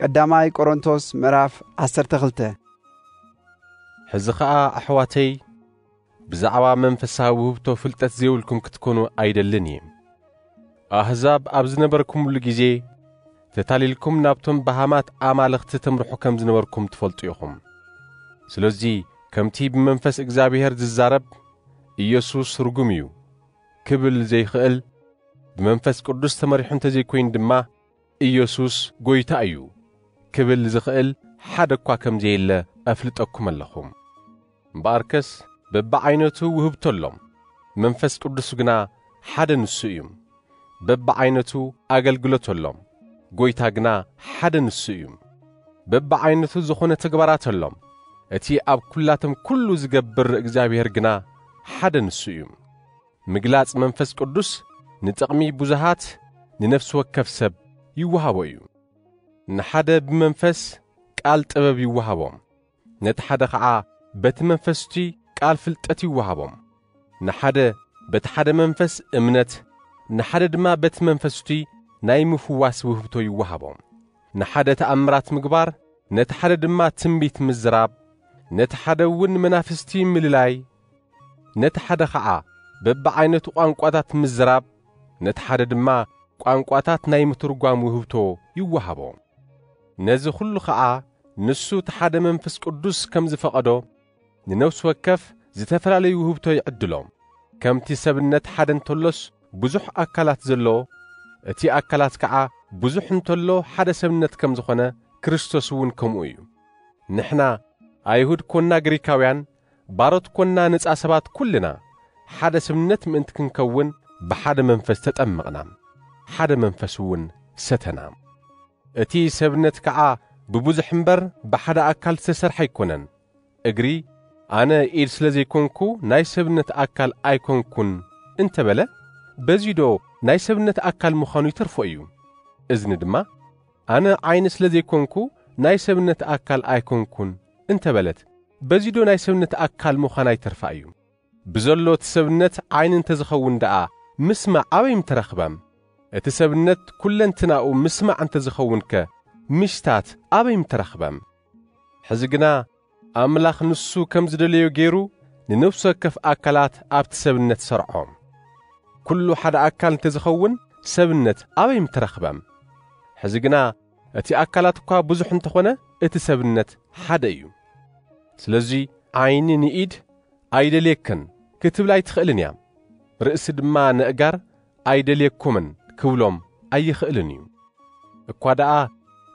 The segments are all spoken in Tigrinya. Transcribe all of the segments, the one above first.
ቀዳማይ ቆሮንቶስ ምዕራፍ ዓሰርተ ክልተ። ሕዚ ኸኣ ኣሕዋተይ፣ ብዛዕባ መንፈሳዊ ውህብቶ ፍልጠት ዘይብልኩም ክትኮኑ ኣይደልን እየ። ኣህዛብ ኣብ ዝነበርኩምሉ ግዜ፣ ተታሊልኩም ናብቶም በሃማት ኣማልኽቲ ተምርሑ ከም ዝነበርኩም ትፈልጡ ኢኹም። ስለዚ፣ ከምቲ ብመንፈስ እግዚኣብሔር ዝዛረብ፣ "ኢየሱስ ርጉም እዩ" ክብል ዘይክእል፣ ብመንፈስ ቅዱስ ተመሪሑ እንተዘይኮይኑ ድማ፣ "ኢየሱስ ጐይታ እዩ" ክብል ዝኽእል ሓደ እኳ ከም ዘየለ ኣፍልጠኩም ኣለኹ። እምበኣርከስ፣ በብዓይነቱ ውህብቶ ኣሎ፣ መንፈስ ቅዱስ ግና ሓደ ንሱ እዩ። በብዓይነቱ ኣገልግሎት ኣሎ፣ ጐይታ ግና ሓደ ንሱ እዩ። በብዓይነቱ ዝኾነ ተግባራት ኣሎ፣ እቲ ኣብ ኵላቶም ኵሉ ዝገብር እግዚኣብሔር ግና ሓደ ንሱ እዩ። ምግላጽ መንፈስ ቅዱስ ንጥቕሚ ብዙሃት፣ ንነፍሲ ወከፍ ሰብ ይወሃቦ እዩ። ንሓደ ብመንፈስ ቃል ጥበብ ይወሃቦ፣ ነቲ ሓደ ኸዓ በቲ መንፈስ እቲ ቃል ፍልጠት ይወሃቦ። ንሓደ በቲ ሓደ መንፈስ እምነት፣ ንሓደ ድማ በቲ መንፈስ እቲ ናይ ምፍዋስ ውህብቶ ይወሃቦ። ንሓደ ተኣምራት ምግባር፣ ነቲ ሓደ ድማ ትንቢት ምዝራብ፣ ነቲ ሓደ እውን መናፍስቲ ምልላይ፣ ነቲ ሓደ ኸዓ በብዓይነቱ ቋንቋታት ምዝራብ፣ ነቲ ሓደ ድማ ቋንቋታት ናይ ምትርጓም ውህብቶ ይወሃቦ። ነዚ ኹሉ ኸዓ ንሱ እቲ ሓደ መንፈስ ቅዱስ ከም ዝፈቐዶ፣ ንነፍሲ ወከፍ ዝተፈላለዩ ውህብቶ ይዕድሎ። ከምቲ ሰብነት ሓደ እንተሎስ ብዙሕ ኣካላት ዘለዎ፣ እቲ ኣካላት ከዓ ብዙሕ እንተሎ ሓደ ሰብነት ከም ዝኾነ፣ ክርስቶስ እውን ከምኡ እዩ። ንሕና ኣይሁድ ኮና ግሪካውያን፣ ባሮት ኮና ነጻ ሰባት ኩልና፣ ሓደ ሰብነት ምእንቲ ክንከውን ብሓደ መንፈስ ተጠመቕና፣ ሓደ መንፈስ እውን ሰተና። እቲ ሰብነት ከዓ ብብዙሕ እምበር ብሓደ ኣካል ዝተሰርሐ ኣይኮነን። እግሪ፣ "ኣነ ኢድ ስለ ዘይኮንኩ ናይ ሰብነት ኣካል ኣይኮንኩን" እንተበለ፣ በዚዶ ናይ ሰብነት ኣካል ምዃኑ ይተርፎ እዩ። እዝኒ ድማ፣ "ኣነ ዓይኒ ስለ ዘይኮንኩ ናይ ሰብነት ኣካል ኣይኮንኩን" እንተበለት፣ በዚዶ ናይ ሰብነት ኣካል ምዃና ይተርፋ እዩ። ብዘሎ እቲ ሰብነት ዓይኒ እንተዝኸውን ደኣ፣ ምስማዕ ኣበይ ምተረኽበም? እቲ ሰብነት ኩለንትናኡ ምስማዕ እንተዝኸውንከ፣ ምሽታት ኣበይ ምተረኽበም? ሕዚ ግና፣ ኣምላኽ ንሱ ከም ዝደለዮ ገይሩ፣ ንነፍሲ ወከፍ ኣካላት ኣብቲ ሰብነት ሰርዖ። ኩሉ ሓደ ኣካል እንተዝኸውን፣ ሰብነት ኣበይ ምተረኽበም? ሕዚ ግና፣ እቲ ኣካላት እኳ ብዙሕ እንተኾነ፣ እቲ ሰብነት ሓደ እዩ። ስለዚ፣ ዓይኒ ንኢድ፣ "ኣይደልየክን" ክትብል ኣይትኽእልን እያ። ርእሲ ድማ ነእጋር፣ "ኣይደልየኩምን" ክብሎም ኣይኽእልን እዩ። እኳ ደኣ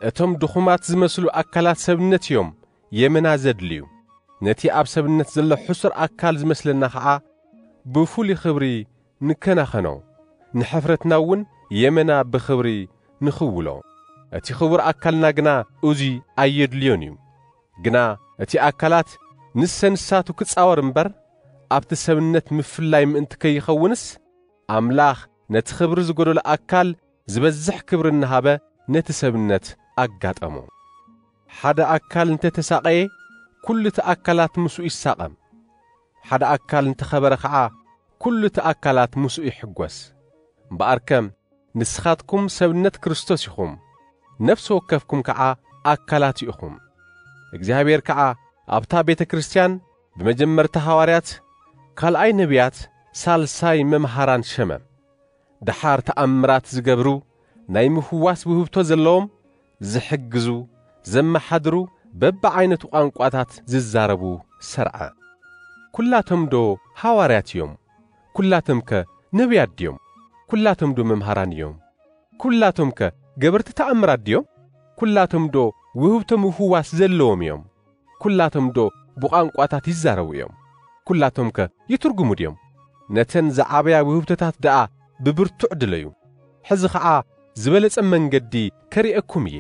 እቶም ድኹማት ዝመስሉ ኣካላት ሰብነት እዮም የመና ዘድልዩ። ነቲ ኣብ ሰብነት ዘሎ ሕሱር ኣካል ዝመስለና ኸዓ ብፍሉይ ኽብሪ ንከናኸኖ፣ ንሕፍረትና እውን የመና ብኽብሪ ንኽውሎ። እቲ ኽቡር ኣካልና ግና እዙይ ኣየድልዮን እዩ። ግና እቲ ኣካላት ንሰ ንሳቱ ክጻወር እምበር፣ ኣብቲ ሰብነት ምፍላይ ምእንቲ ከይኸውንስ፣ ኣምላኽ ነቲ ኽብሪ ዝጎደሎ ኣካል ዝበዝሕ ክብሪ እናሃበ ነቲ ሰብነት ኣጋጠሞ። ሓደ ኣካል እንተ ተሳቐየ፣ ኩሉ እቲ ኣካላት ምስኡ ይሳቐ። ሓደ ኣካል እንተ ኸበረ ኸዓ፣ ኩሉ እቲ ኣካላት ምስኡ ይሕጎስ። እምበኣርከ፣ ንስኻትኩም ሰብነት ክርስቶስ ኢኹም፣ ነፍሲ ወከፍኩም ከዓ ኣካላት ኢኹም። እግዚኣብሔር ከዓ ኣብታ ቤተ ክርስቲያን ብመጀመርታ ሃዋርያት፣ ካልኣይ ነቢያት፣ ሳልሳይ መምሃራን ሸመ። ደሓር ተኣምራት ዝገብሩ፣ ናይ ምፍዋስ ውህብቶ ዘለዎም፣ ዝሕግዙ፣ ዘመሓድሩ፣ በብዓይነቱ ቋንቋታት ዝዛረቡ ሰርዐ። ኩላቶም ዶ ሃዋርያት እዮም? ኩላቶም ከ ነቢያት ድዮም? ኩላቶም ዶ መምሃራን እዮም? ኩላቶም ከ ገበርቲ ተኣምራት ድዮም? ኩላቶም ዶ ውህብቶ ምፍዋስ ዘለዎም እዮም? ኩላቶም ዶ ብቋንቋታት ይዛረቡ እዮም? ኩላቶም ከ ይትርጉሙ ድዮም? ነተን ዝዓበያ ውህብቶታት ደኣ ብብርቱዕ ድለዩ። ሕዚ ኸዓ ዝበለጸ መንገዲ ከርእየኩም እየ።